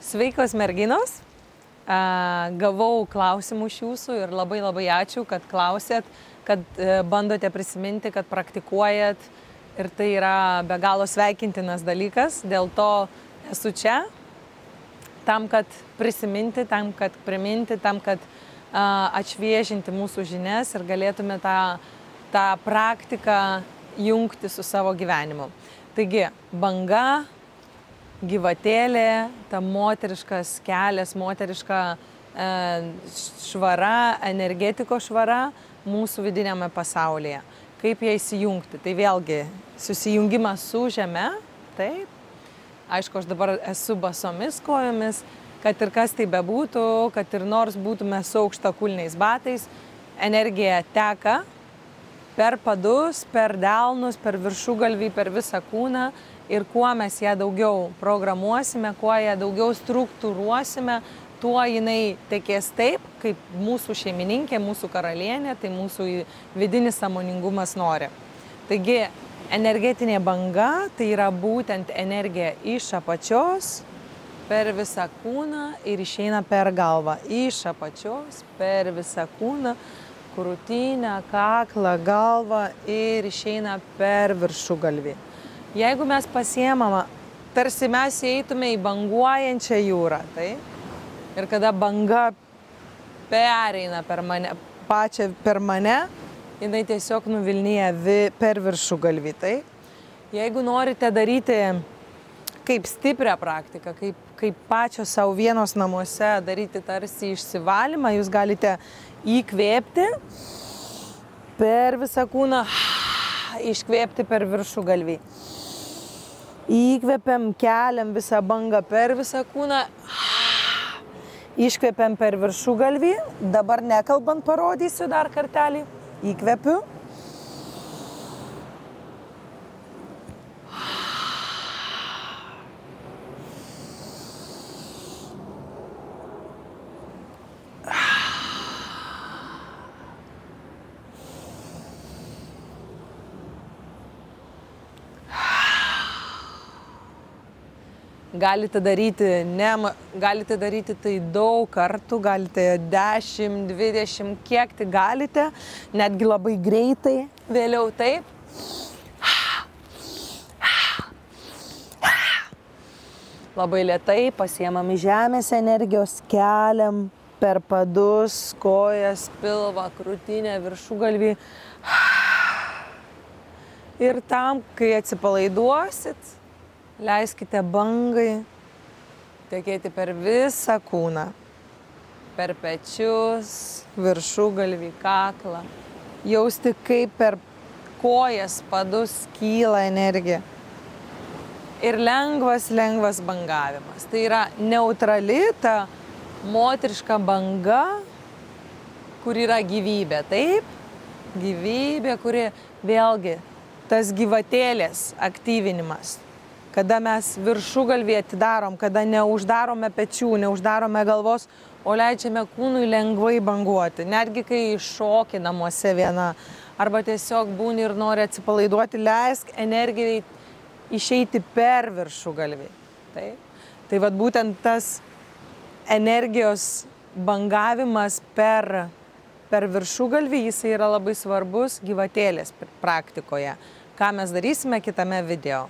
Sveikos merginos, gavau klausimų iš jūsų ir labai ačiū, kad klausėt, kad bandote prisiminti, kad praktikuojat ir tai yra be galo sveikintinas dalykas, dėl to esu čia, tam, kad prisiminti, tam, kad priminti, tam, kad atšviežinti mūsų žinias ir galėtume tą praktiką jungti su savo gyvenimu. Taigi, banga, gyvatėlė, ta moteriškas kelias, moteriška švara, energetikos švara mūsų vidiniame pasaulyje. Kaip ją įsijungti? Tai vėlgi susijungimas su žeme, taip. Aišku, aš dabar esu basomis kojomis, kad ir kas tai bebūtų, kad ir nors būtume su aukštakulniais batais, energija teka per padus, per delnus, per viršugalvį, per visą kūną ir kuo mes ją daugiau programuosime, kuo ją daugiau struktūruosime, tuo jinai tekės taip, kaip mūsų šeimininkė, mūsų karalienė, tai mūsų vidinis sąmoningumas nori. Taigi, energetinė banga tai yra būtent energija iš apačios per visą kūną ir išeina per galvą. Iš apačios per visą kūną, krūtinę, kaklą, galvą ir išeina per viršugalvį. Jeigu mes pasiemame, tarsi mes įeitume į banguojančią jūrą, tai? Ir kada banga pereina per mane, pačią per mane, jinai tiesiog nuvilnyja per viršugalvį, tai? Jeigu norite daryti kaip stiprią praktiką, kaip pačios savo vienos namuose daryti tarsi išsivalymą, jūs galite įkvėpti per visą kūną, iškvėpti per viršugalvį. Įkvėpiam, keliam visą bangą per visą kūną, iškvėpiam per viršugalvį. Dabar nekalbant parodysiu dar kartelį. Įkvėpiu. Galite daryti tai daug kartų, galite 10, 20, kiek tai galite, netgi labai greitai, vėliau taip. Labai lėtai pasiemam į žemės energijos, keliam per padus, kojas, pilvą, krūtinę, viršugalvį. Ir tam, kai atsipalaiduosit, leiskite bangai tekėti per visą kūną, per pečius, viršugalvį, kaklą. Jausti, kaip per kojas, padus kyla energija. Ir lengvas bangavimas. Tai yra neutrali ta moteriška banga, kur yra gyvybė, taip? Gyvybė, kuri vėlgi tas gyvatėlės aktyvinimas. Kada mes viršugalvį atidarom, kada neuždarome pečių, neuždarome galvos, o leidžiame kūnui lengvai banguoti. Netgi kai šoki namuose viena, arba tiesiog būni ir nori atsipalaiduoti, leisk energijai išeiti per viršugalvį. Tai vat būtent tas energijos bangavimas per viršugalvį, jis yra labai svarbus gyvatėlės praktikoje. Ką mes darysime kitame video.